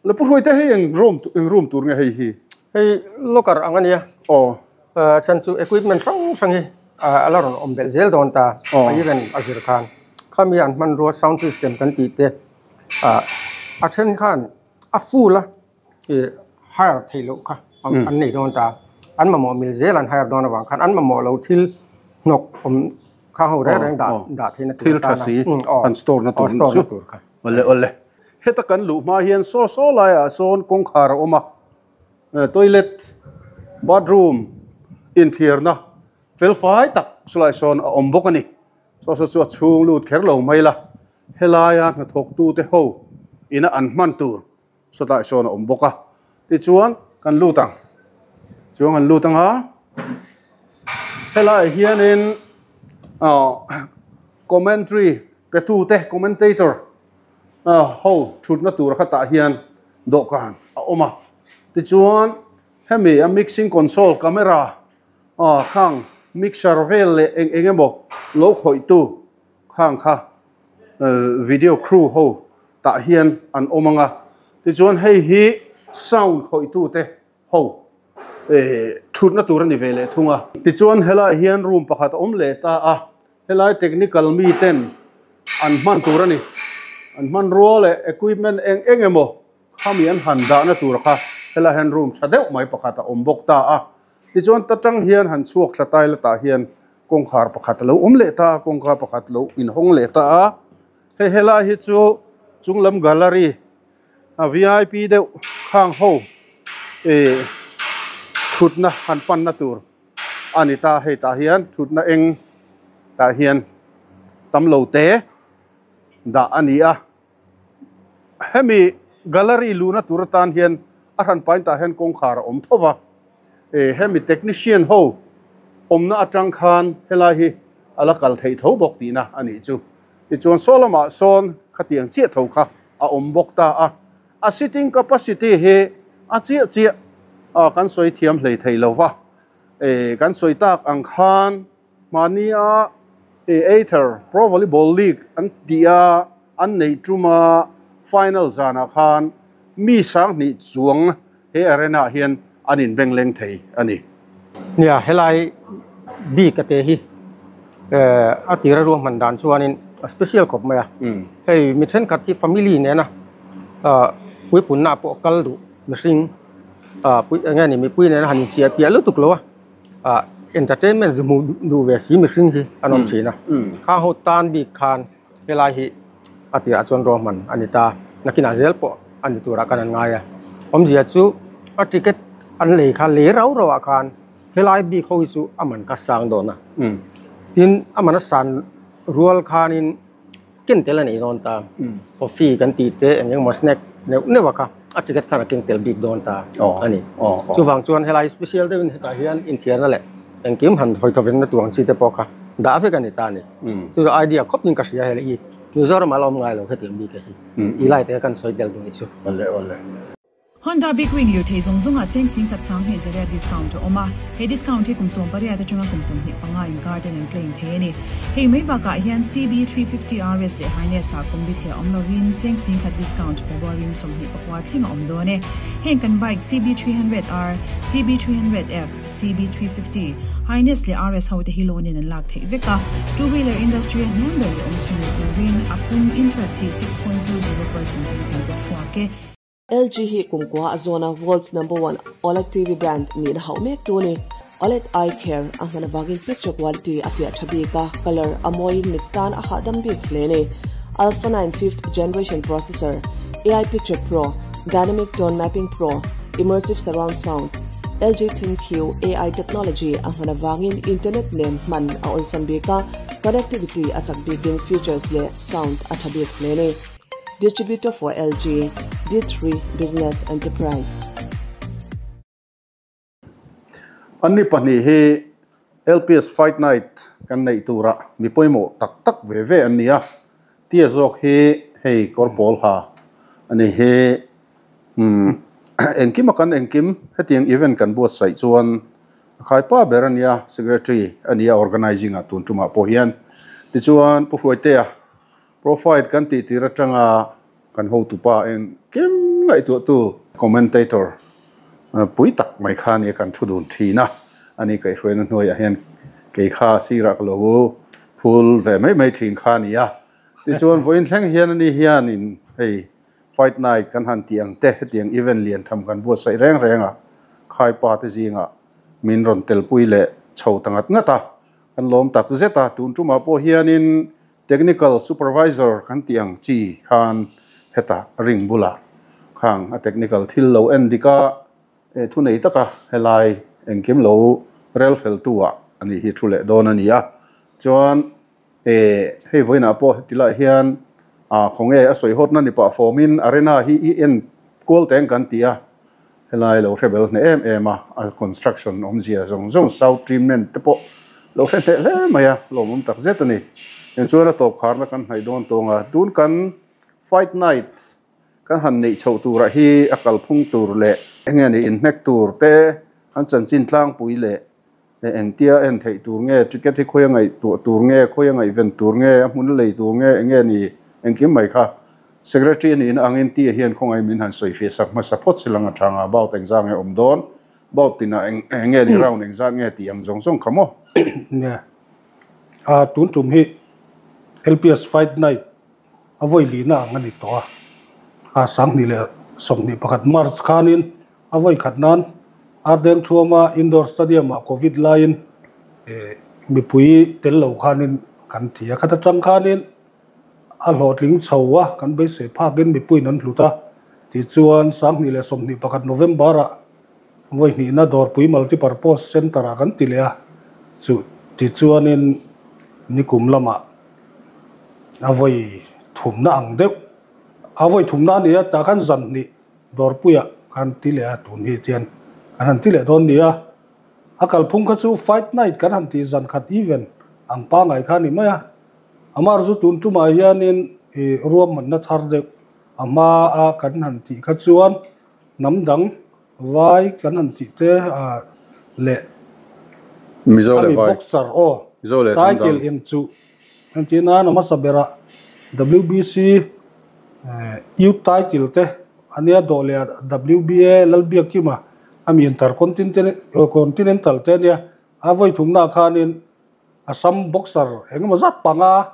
Speaker 2: la Pu Hruaite hei eng room eng room tur nge hei hi?
Speaker 3: Hei locker ang a nia.
Speaker 2: Aw.
Speaker 3: Chhan chu equipment hrang hrang hi a la rawn awm belh zel dawn ta.
Speaker 2: Aw.
Speaker 3: A event a zir khan. Khami an hmanrua sound system kan tih te a then khan a full a ih hire theih loh kha an nei dawn ta an mamawh mil zel an hire dawn avang khan an mamawh lo thil hnawk awm kha ho reng reng dah dah theihna tur
Speaker 2: thil tha si an store na tur
Speaker 3: store na tur kha.
Speaker 2: Awle awle. Heta kan luh hma hian saw saw laiah sawn kawngkhar a awm a, toilet, bathroom inthiarna fel fai tak chulaiah sawn a awm bawk a ni. Saw saw chu a chhung lut kher lo mai la, helaia hnathawktute ho ina an hman tur sawtlaiah sawn a awm bawk a. Tichuan kan lut ang, chuan kan lut ang a, helaiah hianin commentary Petute, commentator, ho thutna tur khatah hian dawhkan a awm a. Tichuan, hemi a mixing console, camera, khang mixer vel leh eng eng emaw lo khawihtu khang kha video crew ho tah hian an awm ang a. Tichuan, hei hi sound khawihtute ho thutna tur a ni ve leh thung a. Tichuan, helaiah hian room pakhat a awm leh ta a. Helai technical mi ten an hman tur a ni. An hmanrua leh equipment eng eng emaw khami an han dahna tur kha helai hian room tha deuh mai pakhat a awm bawk ta a. Tichuan ta tang hian han chhuak thla tai la tah hian kawngkhar pakhat a lo awm leh ta a, kawngka pakhat lo inhawng leh ta a. Hei helai hi chu chunglam gallery a vip deuh khang ho ih thutna han panna tur. A ni ta, hei tah hian thutna eng tah hian tam lo te dah a ni a. Hemi gallery luhna tur atan hian a hran pain tah hian kawngkhar a awm tho va. E hemi technician ho awmna atang khan helai hi a la kal theih tho bawk tihna a nih chu. Tichuan saw lamah sawn khatiang chiah tho kha a awm bawk ta a. A sitting capacity hi a chiah chiah a kan sawi thiam hlei thei lo va, e kan sawi tak ang khan mahnia e Ather Pro Volleyball League an tih a an neih tuma final zanah khan mi sanghnih chuang he arena ah hian an inbeng leng thei a ni.
Speaker 3: Nia, helai bik a te hi a tira ruahman dan chuanin a special khawp mai a. Hei mi thenkhat hi family nena puipunna pawh kal duh mihring eng nge ni mipui nena han inchiah piah lutuk lo a, entertainment zu hmuh duh ve si mihring hi an awm thin a. Khang ho tan bik khan helai hi a tirah chuan ruahman a ni ta. Nakinah zel pawh a ni turah khan an ngai a. Awmzia chu a ticket an lei kha lei rau rauh ah khan helai bik ho hi chu a man kha sang dawn a. Tin a man a san rual khanin ken tel a nei dawn ta. Coffee kan tih te eng engemaw snack neuh neuh a kha a ticket khan a keng tel bik dawn ta a ni. Chuvang chuan helai special deuhin hetah hian inthiarna leh engkim han hawi thawvenna tur ang chi te pawh kha dah vek a ni ta a ni. Chu chu idea khawp in ka hria hei i Mizoram ah la awm ngai lo hetiang bik hi i lai te kan sawi tel duh ni chu.
Speaker 2: Awle awle.
Speaker 4: Honda Big Wing lirthei zawng zawngah cheng singkhat sanghnih zariat discount a awm a, he discount hi kum 18 atanga kum 25 inkar ten an claim thei a ni. Hei mai bakah hian CB350 RS leh Highness ah kum bithliah awm lovin cheng singkhat discount February ni 24 thleng a awm dawn e. Heng kan bike CB300R, CB300F, CB350, Highness leh RS ho te hi loan in an lak theih vek a, two wheeler industry a hniam ber leh awm chhun leh turin a pum interest hi 6.20% in kan pe chhuak e.
Speaker 5: LG hi kumkua a zawna world's number one OLED TV brand nihna hauh mek tu a ni. OLED Eye Care a hman avangin picture quality a fiah tha bik a, colour a mawiin mit tan a hahdam bik hle a ni. Alpha 9 fifth generation processor, AI Picture Pro, Dynamic Tone Mapping Pro, Immersive Surround Sound, LG ThinQ AI technology a hman avangin internet nen hman a awlsam bik a, connectivity a chak bikin features leh sound a tha bik hle a ni. Distributor for LG, D3 Business Enterprise.
Speaker 2: Anni pahnih hi LPS Fight Night kan neih turah mi pawimawh tak tak ve ve an ni a, tia zawk hi hei kawr pawl ha a ni hi. Umm engkim a kan engkim hetiang event kan buatsaih chuan a khaipa ber a nia, secretary a nia organizing ah tun tumah pawh hian. Tichuan Pu Hruaitea Profile kan tih tir atanga kan hotupa engkim ngaihtuahtu commentator pui tak mai kha nia kan thu dun thin a, ani kaihhruaina hnuaiah hian kei kha sirah ka lo phul ve mai mai thin kha a ni a. Tichuan vawiin thleng hian ani hianin hei Fight Night kan han tih ang te hetiang event lian tham kan buatsaih reng reng a, khaipa te zingah min rawn telpui leh chho ta ngat ngat a, kan lawm tak zet a, tun tumah pawh hianin Technical Supervisor kan tih ang chi khan Hetah ring bulah khang a technical thil lo en dik a, eh thu nei taka helai engkim lo rel fel tu ah a nih hi thu leh dawn a ni a. Chuan eh hei vawiinah pawh heti lai hian ah khawnge a sawi hawtna ni pah fawmin arena hi i en kual teng kan ti a, helai lo hre bel hneh em em a, a construction awmzia zawng zawng sound treatment te pawh lo hre hneh hle mai a, lawmawm tak zet a ni. Tichuan a tawp kharna kan hnaih dawn tawng a, tun kan fight night kan han neih chhoh turah hi a kalphung tur leh enge ni inhnek tur te an chanchin tlangpui leh Engtia en theih tur nge, ticket hi khawi a ngaihtuah tur nge, khawi a ngaihven tur nge, a hmun lei tur nge, enge ni engkim mai kha. Secretary a nihna angin tia hian khawngaih min han sawi feh sak hmasa phawt si lang a tha nga, bout engzah nge awm dawn, bout tinah eng enge ni round engzah nge tih ang zawng zawng kha maw?
Speaker 6: Nia, a tun tum hi LPS Fight Night a vawi lihna ang a ni tawh a, a 2021 March khanin A vawi khat nan Ardeng Thuama Indoor Stadium-ah Covid laiin mipui tel lo khanin kan ti a. Khat atang khanin a hlawhtling chho a, kan beisei phakin mipuiin an hlut a. Tichuan 2021 November-ah vawi hnihna Dawrpui Multipurpose Centre-ah kan ti leh a. Chu tichuanin nikum lamah a vawi thumna ang deuh a vawi thumna a ni a, tah khan zan hnih Dawrpuia kan ti leh a, tun hi tian kan han ti leh dawn nia. A kalphung kha chu Fight Night kan han tih zan khat event ang pangai kha a ni mai a. Amar chu tun tumah hianin i ruahmanna thar deuh a hma a kan han tih kha chuan hnam dang vai kan han tih te a leh
Speaker 2: Mizo leh
Speaker 6: khami
Speaker 2: vai.
Speaker 6: boxer aw
Speaker 2: Mizo leh hnam dang.
Speaker 6: title in chu Entir nan a hmasa berah WBC Youth title te a nia dawh leh a WBA Lalbiakkima a mi Intercontinental te a nia. A vawi thumnaah khanin Assam boxer engemaw zat panga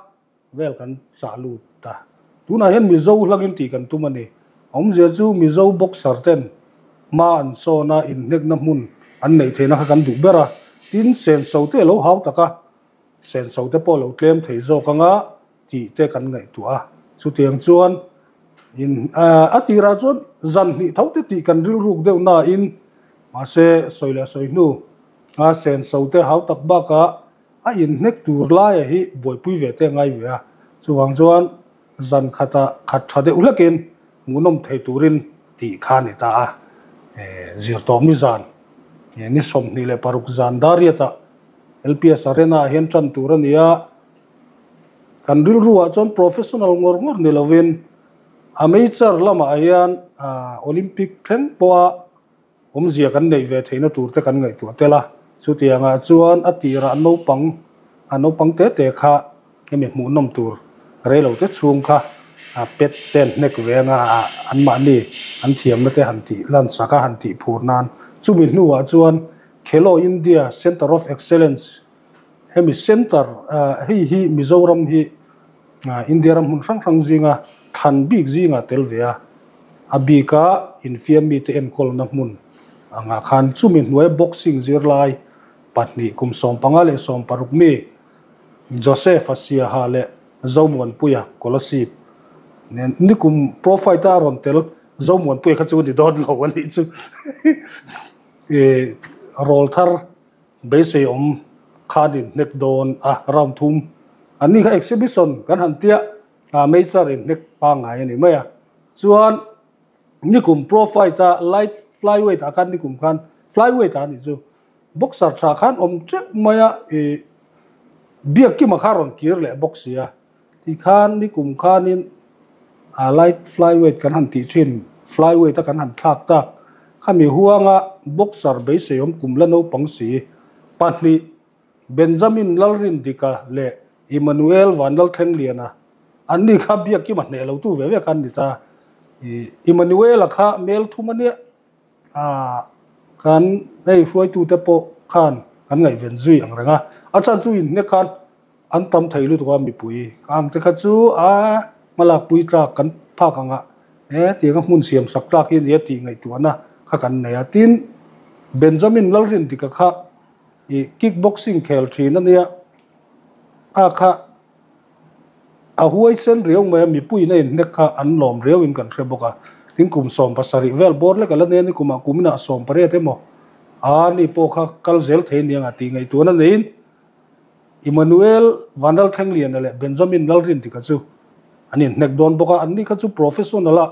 Speaker 6: vel kan chah lut ta. Tunah hian Mizo hlangin tih kan tum a ni. A awmzia chu Mizo boxer ten hma an sawn a, inhnekna hmun an neih theihna kha kan duh ber a. Tin, senso te a lo hau tak a. Senso te pawh lo tlem thei zawk anga tih te kan ngaihtuah a, chutiang chuan in a tirah chuan zan hnih tho te tih kan rilruk deuh nain mahse sawi leh sawi hnu a senso te hau tak bakah a inhnek tur laia hi buaipui ve te a ngai ve a, chuvang chuan zan khata khat tha deuh hlekin hmuhnawm thei turin tih kha a ni ta a, zirtawmni zan ni 26 zan Dariat-ah LPS Arena ah hian tan tur a ni a, kan rilru ah chuan professional ngawr ngawr ni lovin amateur lamah hian Olympic thleng pawha awmzia kan neih ve theihna tur te kan ngaihtuah tel a, chutiang ah chuan a tirah naupang a naupang te te kha hemi hmuhnawm tur reilo te chhung kha pet ten hnek ve anga anmahni an thiamna te han tih lan sak a han tih phur nan chumi hnuah chuan Khelo India Centre of Excellence, hemi centre hei hi Mizoram hi India ram hmun hrang hrang zinga thlan bik zingah tel ve a, a bika infiam mite enkawlna hmun angah khan chumi hnuai boxing zirlai pahnih kum 15 leh 16 mi Joseph a Siaha leh Zomuanpuia Kolasib nen nikum pro fight a rawn tel Zomuanpuia kha chu ni dawn lo a nih chu. I rawl thar beisei awm khan in hnek dawn a, round thum an ni kha exhibition kan han tia a major in hnek pangngai a ni mai a. Chuan nikum pro fight a light flyweight ah khan nikum khan flyweight ah a nih chu boxer tha khan awm teuh mai a i Biakkima kha rawn kir leh bawk si a. Tikhan nikum khanin a light flyweight kan han tih thin, flyweight a kan han thlak tak. Khami huanga boxer beisei awm kum la naupang si pahnih Benjamin Lalrindika leh Emmanuel Vanlalthlengliana an ni kha biakkima hneh lo tu ve ve khan ni ta. Emmanuel-a kha mel thum a nia a kan hei hruaitute pawh khan kan ngaihven zui ang reng a, a chhan chu inhnek khan An tam thei lutuk a mipui ang te kha chu a hmalak pui tlak kan phak ang a e tiang a hmun siam sak tlak hi a nia tih ngaihtuahna kha kan nei a. Tin, Benjamin Lalrindika kha i kick boxing khel thin a nia, kha kha A huaisen riau mai a, mipuiin a inhnek kha an lawm riauin kan hre bawk a. Tin, kum 17 vel bawr lek a la nen i kumah kuminah 18 emaw a ni pawh kha kal zel thei aniang a tih ngaihtuahna neiin Emmanuel Vanlalthlengliana leh Benjamin Lalrindika chu an inhnek dawn bawk a. Anni kha chu professional a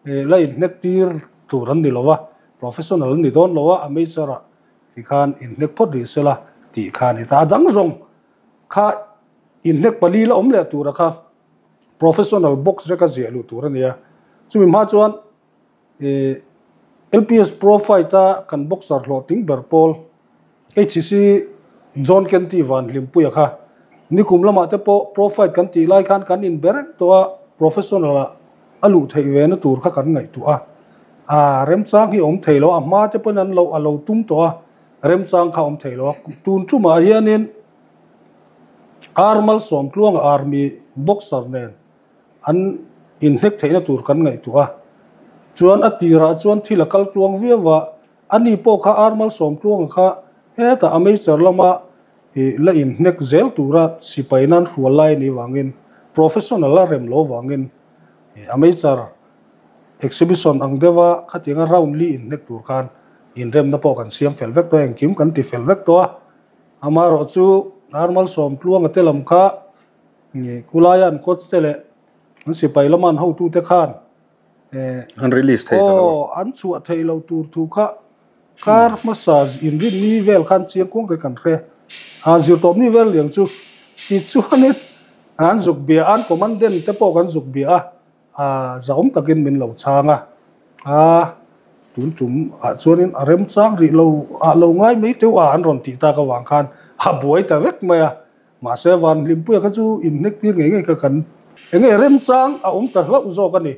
Speaker 6: la inhnek tir tur an ni lo a, professional an ni dawn lo a, amateur ah tikhan inhnek phawt rih sela tih kha a ni ta. A dang zawng kha Inhnek pali la awm leh tura kha professional box veka ziah luh tur a ni a. Chumi hma chuan LPS Pro Fight a kan boxer hlawhtling ber pawl HCC John Kenty Van Hlimpuia kha nikum lamah te pawh Pro Fight kan tih lai khan kan inbe reng tawh a, professional ah a luh theih ve na tur kha kan ngaihtuah a. A remchang hi awm thei lo a, a hma te pawhin an lo a lo tum tawh a, remchang kha awm thei lo a. Tun tumah hianin Armal Sawmtluanga Army boxer nen an inhnek theihna tur kan ngaihtuah a, chuan a tirah chuan thil a kal tluang viau a, ani pawh kha Armal Sawmtluanga kha hetah amateur lama la inhnek zel tura sipai nan hrual lai a nih vangin professional a rem lo vangin amateur exhibition ang deuha khatianga round li inhnek tur khan inremna pawh kan siam fel vek tawh a, engkim kan ti fel vek tawh a. Amaherawh chu Armal Sawmtluanga te lam kha Khulaia an coach te leh an sipai lama an hotute khan
Speaker 2: An release thei ta lo.
Speaker 6: Aw, an chhuah theih loh tur thu kha kar hmasa inrinni vel khan chiang kuang te kan hre. A zirtawpni vel liang chu tichuanin an zuk bia a, an commandant te pawh kan zuk bia a. A zahawm takin min lo chhang a, a tun tum ah chuanin a remchang rih lo ah lo ngai mai teuh a an rawn tih tak avang khan a buai ta vek mai a, mahse van Hlimpuia kha chu inhnek tir ngei ngei kha kan enge remchang a awm ta hlauh zawk a ni.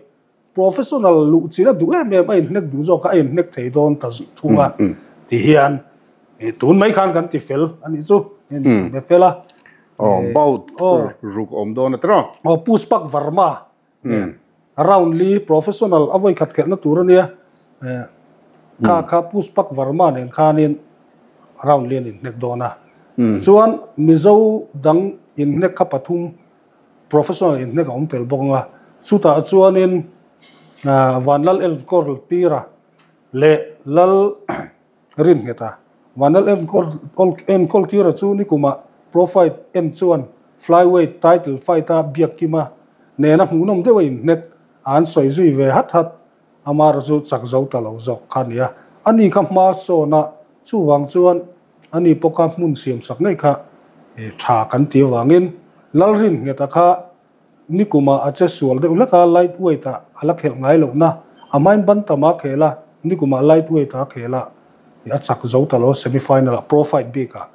Speaker 6: Professional luh chin a duh em em a inhnek duh zawk kha a inhnek thei dawn ta thung a ti hian tun mai khan kan ti fel a nih chu, be fel a.
Speaker 2: Aw bout ruk awm dawn a tiraw?
Speaker 6: Aw Pushpak Varma nen round li professional a vawi khat khelhna tur a nia. Kha kha Pushpak Varma nen khanin round li an inhnek dawn a. Chuan Mizo dang inhnek kha pathum professional inhnek a awm tel bawk ang a. Chutah chuanin Vanlal Enkawl Tira leh Lal Rinnghet a, Vanlal enkawl tira chu nikumah Pro Fight en chuan Flyweight title fight a biak kim a, nena hmuhnawm deuh a inhnek a an sawi zui ve hat hat. Amara chu chak zo ta lo zawk kha a ni a, ani kha hma sawn a, chuvang chuan ani pawh kha hmun siam sak ngei kha tha kan ti avangin Lalrinnghet a kha Nikumah a che sual deuh hlek a, light weight ah a la khelh ngai lohna, a hmain ban tam a khel a, nikumah light weight ah a khel a, a chak zo ta lo semi final ah pro fight bik ah.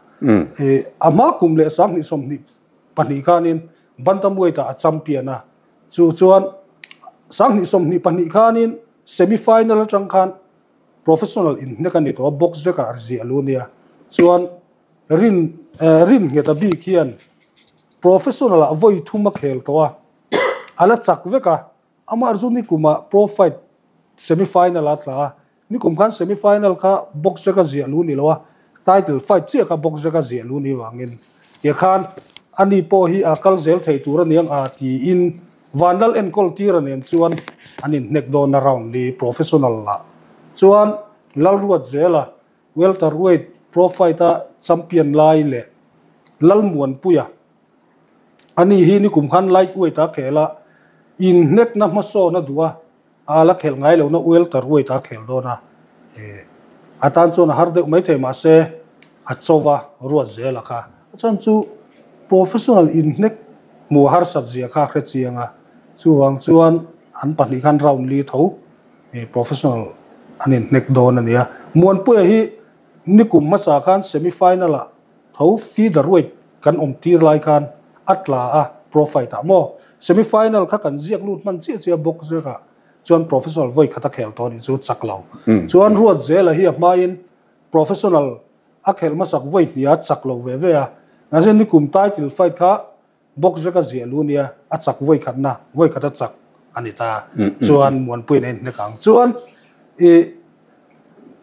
Speaker 6: A hma kum leh 2022 khanin bantam weight ah a champion a, chu chuan 2022 khanin semi final atang khan professional inhnek a ni tawh a, box vek ah a ziah lu nia, chuan rin rin nghet a bik hian Professional ah vawi thum a khel tawh a, a la chak vek a, amah chu nikum ah Pro Fight semi final a tla a, nikum khan semi final kha box vek a ziah lu ni lo a, title fight chiah kha box vek a ziah lu ni vangin tia khan ani pawh hi a kal zel thei tur aniang a tiin Vanlal enkawl tira nen chuan an inhnek dawn a round li professional lah chuan Lalruat zela Welterweight Pro Fight-a champion lai leh Lalmuanpuia a ni hi nikum khan lightweight-a khel a, inhnekna hmasawn a duh a, a la khelh ngai lohna welterweight-a khel dawn a, a tan chuan a har deuh maithei mahse a chauva ruat zel a kha. A chhan chu professional inhnek hmuh harsat zia kha a hre chiang a, chuvang chuan an pahnih khan round li tho Professional an inhnek dawn a nia. Muanpuia hi nikum hmasa khan semi final ah tho feeder weight kan awm tir lai khan a tla a pro fight ah maw. Semi final kha kan ziak lut hman chiah chiah bawk zek ah chuan professional vawi khat a khel tawh a nih chu chak lo. Chuan Ruatzela hi a hmain professional a khelh hmasak vawi hnih a chak lo ve ve a. Mahse nikum title fight kha Box vek a ziah lu nia, a chak vawi khatna, vawi khat a chak a ni ta. Chuan Muanpuiin a inhnek ang. Chuan i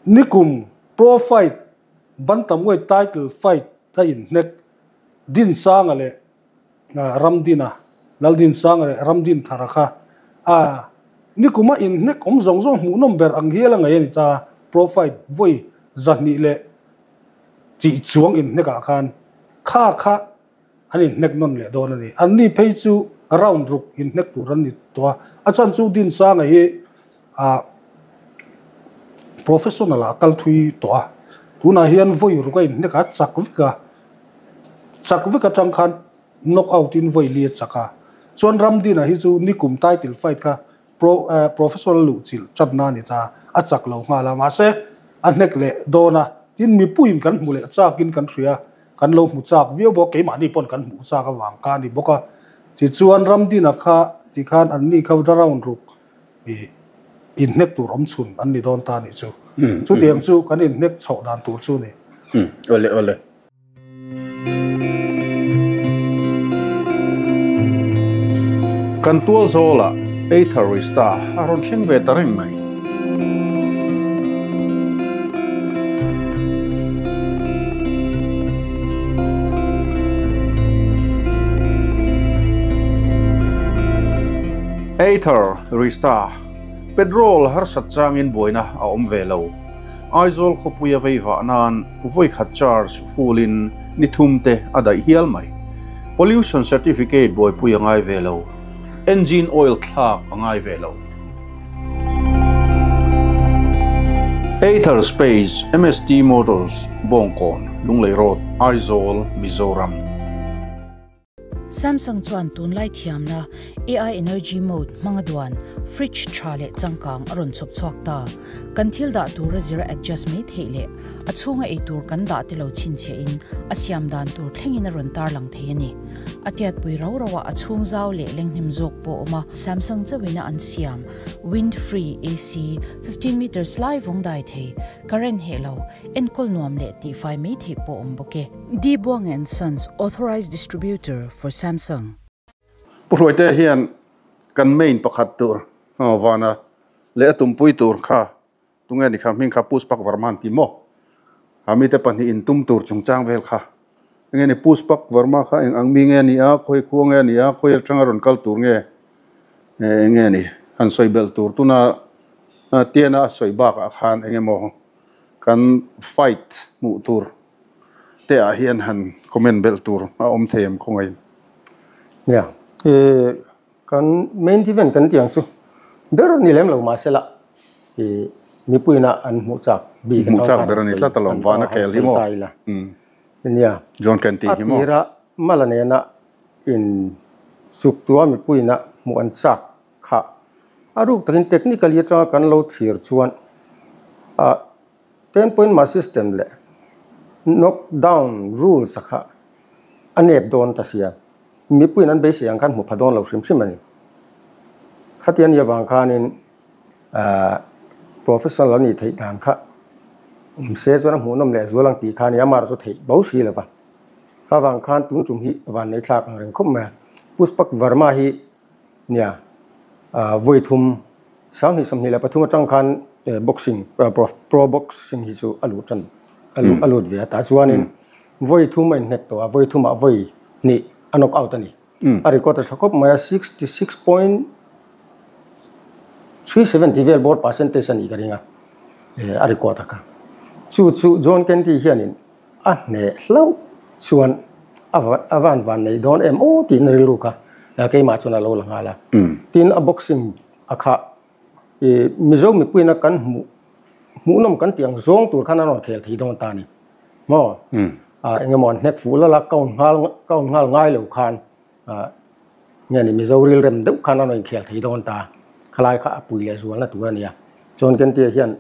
Speaker 6: nikum pro fight bantamweight title fight a inhnek Dinsanga leh Ramdina. Laldin Sanga leh Ramdin Thara kha a nikuma inhnek awm zawng zawng hmuhnawm ber ang hial a ngaih a ni ta. Pro fight vawi 200 leh tih chuang inhnekah khan kha kha an inhnek nawn leh dawn a ni. Anni phei chu round ruk inhnek tur an ni tawh a. A chhan chu Dinsanga hi a professional ah kal thui tawh a. Tunah hian vawi ruk a inhnek a chak vek a. Chak vek atang khan knock out in vawi li a chak a. Chuan Ramdina hi chu nikum title fight kha pro professional luh chilh chatna a ni ta. A chak lo nghal a. Mahse a hnek leh dawn a. Tin mipuiin kan hmu leh chakin kan hria. Kan lo hmu chak viau bawk. Keimahni pawn kan hmuh chak avang kha a ni bawk a. Tichuan Ramdina kha tikhan anni kha round ruk inhnek tur awm chhun an ni dawn ta nih chu. Chutiang chu kan inhnek chhoh dan tur chu ni.
Speaker 2: Ole ole. Kan tual zawlah Ather Rista a rawn thleng ve ta reng mai. Ather Rista petrol harsat changin buaina a awm ve lo. Aizawl khawpui a vei vah nan vawi khat charge full in ni thum te a daih hial mai. Pollution certificate buaipui a ngai ve lo. Engine oil thlak a ngai ve lo. Ather Space MST Motors Bawngkawn Lunglei Road Aizawl Mizoram.
Speaker 7: Samsung chuan tunlai thiamna AI Energy Mode hmanga duan fridge tha leh changkang a rawn chhawp chhuak ta. Kan thil dah tur a zira adjust mai theih leh a chhunga ei tur kan dah te lo chhinchhiah in a siam dan tur thlengin a rawn tar lang thei a ni. A tiatpui rau rau ah a chhung zau leh lenghnem zawk pawh awm a. Samsung chauhin a an siam wind free AC 15 meters lai vawng dai thei, current heh lo, enkawl nuam leh tihfai mai theih pawh awm bawk e. D Buang and Sons Authorized Distributor for Samsung.
Speaker 2: Pu Hruaite hian kan main pakhat tur vana leh a tumpui tur kha tunge ni kha hming kha Pushpak Varma an ti maw? Ha mite pahnih in tum tur chungchang vel kha enge ni Pushpak Varma kha eng ang mi nge ni a, khawi khua nge ni a, khawi atanga rawn kal tur nge enge ni han sawi belh tur tuna tiana a sawi bakah khan enge maw kan fight hmuh tur te ah hian han comment belh tur a awm thei em khawngaih.
Speaker 3: Nia, kan main event kan tiang chu ber ni lem lo mahse la mipuina an hmuh chak bik
Speaker 2: hmuh chak ber ani tlat alawm vana khel hi maw.
Speaker 3: Nia,
Speaker 2: John Kenty hi maw.
Speaker 3: A tira mala nena in suk tua mipuina hmuh an chak kha a ruk takin technically atanga kan lo thlir chuan a 10 point ma system le knockdown rules kha a nep dawn ta sia mipuin an beisei ang khan hmu pha dawn lo hrim hrim ani. Khatian ia wang khanin professional ani thei dan kha se chuan a hmuhnawm leh zual ang tih khan i amar chu thei bo si lova. Kha wang khan tun tum hi van nei thlak ang reng khawp mai a. Pushpak Varma hi nia vawi thum 2023 atang khan boxing pro boxing hi chu a lut tan a lut ve a ta chuanin vawi thum a inhnek tawh a vawi thumah vawi hnih a knock out ani. A record a tha khawp mai a 66.370 vel bawr percentage ani ka ring a a record a kha. Chu chu John Kenty hianin a hne hlauh chuan a van van nei dawn em aw tiin rilru kha keimah chuan a lo la nghal a. Tin a boxing a kha Mizo mipuina kan hmuh hmuhnawm kan tih ang zawng tur khan an rawn khel thei dawn ta ni. Maw? Engemaw an hnek fuh lala count nghal count nghal ngai lo khan nge ni Mizo ril rem deuh khan an rawn inkhel thei dawn ta. Khalai kha a pui leh zualna tur a ni a. Chuan Kentia hian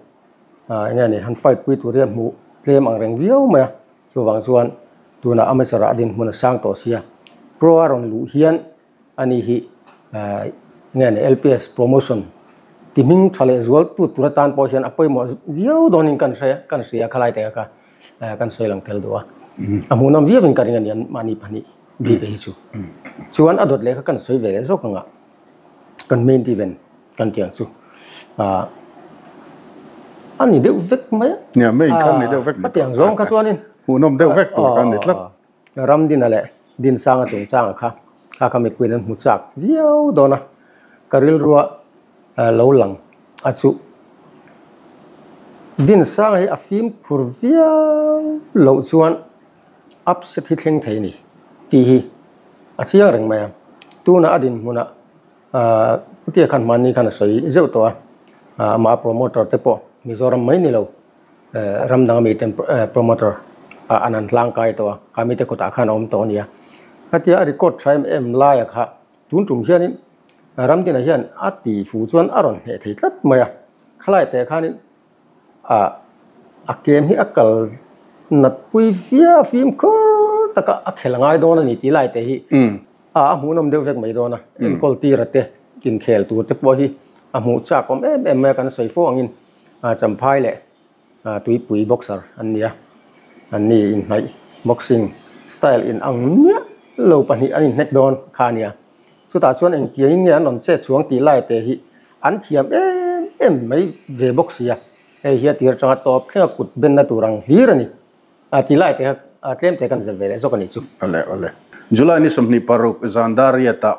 Speaker 3: enge ni han fight pui tur hian hmuh tlem ang reng viau mai a. Chuvang chuan tunah amateur ah a dinhmun a sang tawh sia. Pro a rawn luh hian ani hi nge ni LPS promotion ti hming tha leh zual tu tur atan pawh hian a pawimawh viau dawnin kan hre kan hria khalai te kha kan sawi lang tel duh a. A hmuhnawm viauin ka ring a ni an mahni pahnih bik hi chu. Chuan a dawt leh kha kan sawi ve leh zawk anga kan main event kan tiang chu a ni deuh vek mai a.
Speaker 2: Nia main khan ni deuh vek
Speaker 3: mai. A tiang zawng kha chuanin
Speaker 2: hmuhnawm deuh vek tur khan ni tlat.
Speaker 3: Ramdina leh Dinsanga chungchanga kha Kha kha mipuiin an hmu chak viau dawn a, ka rilrua lo lang a chu. Dinsanga hi a fimkhur viau loh chuan upset hi thleng thei a ni tih hi a chiang reng mai a. Tunah a dinhmunah Putia khan hmanni khan a sawi zeuh tawh a, amah promoter te pawh Mizoram mai ni lo ram dang ami ten promoter ah an han hlangkai tawh a, kha mite kutah khan a awm tawh a nia. Khatia a record tha em em laia kha tun tum hianin Ramdina hian a ti fu chuan a rawn hneh thei tlat mai a, khalai teh khanin ah a kem hi a kal nat pui viau fimkhur taka a khel ngai dawn a ni tih lai te hi a a hmuhnawm deuh vek mai dawn a, enkawl tira te inkhel tur te pawh hi a hmuh chak awm em em mai a kan sawi fo angin Champhai leh tuipui boxer an ni a, an ni inhnaih boxing style in ang miah lo pahnih an inhnek dawn kha a nia. Chutah chuan engtiangin nge an rawn chet chhuang tih lai te hi an thiam em em mai ve bawk si a, hei hi a tir atanga tawp thlenga kut benna tur ang hlir a ni. A tih lai te kha tlem te kan zep ve leh zawk a nih chu.
Speaker 2: Awle awle. July ni 26 zan dar riatah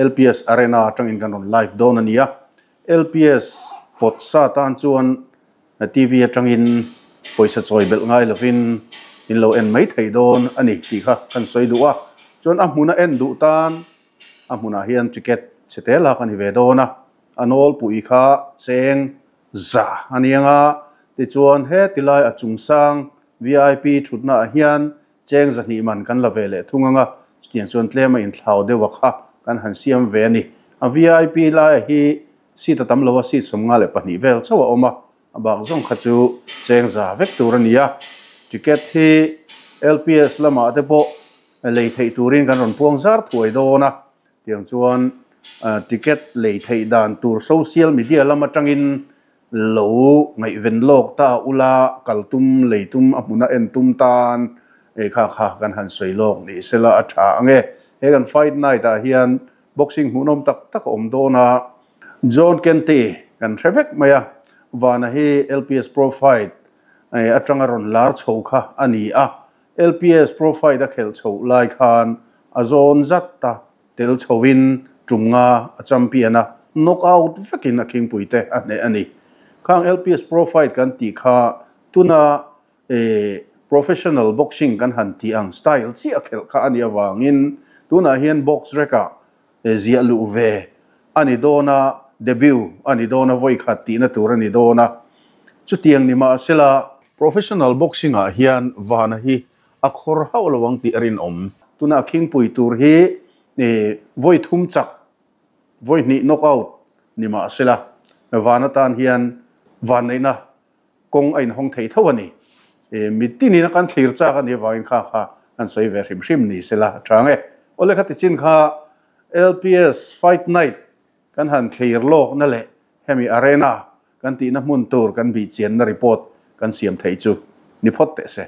Speaker 2: LPS Arena atangin kan rawn live dawn a ni a, LPS pawt sa tan chuan TV atangin pawisa chawi belh ngai lovin in lo en mai thei dawn a ni tih kha kan sawi duh a. Chuan a hmuna en duh tan a hmunah hian ticket chhe te lak a ni ve dawn a, a nawlpui kha cheng za a ni ang a. Tichuan heti lai a chungsang VIP thutnaah hian cheng zahnih man kan la ve leh thung ang a, chutiang chuan tlem a inthlau deuh a kha kan han siam ve a ni. A VIP laia hi Seat a tam lo a, seat 52 vel chauh a awm a, a bak zawng kha chu cheng za vek tur a ni a. Ticket hi LPS lamah te pawh lei theih turin kan rawn puang zar thuai dawn a, tiang chuan ticket lei theih dan tur social media lam atangin lo ngaihven lawk ta ula, kal tum, lei tum, a hmuna en tum tan ei kha kha kan han sawi lawk ni sela a tha ang e. He kan fight night ah hian Boxing hmuhnawm tak tak a awm dawn a, John Kente kan hre vek mai a, Vana hi LPS Pro Fight atanga rawn lar chho kha a ni a, LPS Pro Fight a khelh chhoh lai khan a zawn zat a, tel chhoin tum nga a champion a, knock out vekin a khingpuite a hneh a ni. Khang LPS Pro Fight kan tih kha tuna Professional boxing kan han tih ang style chiah khelh kha a nih avangin tunah hian box rek-ah ziah luh ve a ni dawn a, debut a ni dawn a, vawi khat tihna tur a ni dawn a. Chutiang ni mahsela professional boxing-ah hian vana hi a khawr hauh lo ang tih a rinawm. Tunah khingpui tur hi vawi thum chak, vawi hnih knockout ni mahsela van atan hian vanneihna Kawng a inhawng thei tho a ni. Mi tinin a kan thlir chak a nih avangin kha kha kan sawi ve hrim hrim ni sela a chang e. Awle kha tichin kha LPS Fight Night kan han thlir lawkna leh hemi arena kan tihna hmun tur kan bihchianna report kan siam theih chu ni phawt teh se.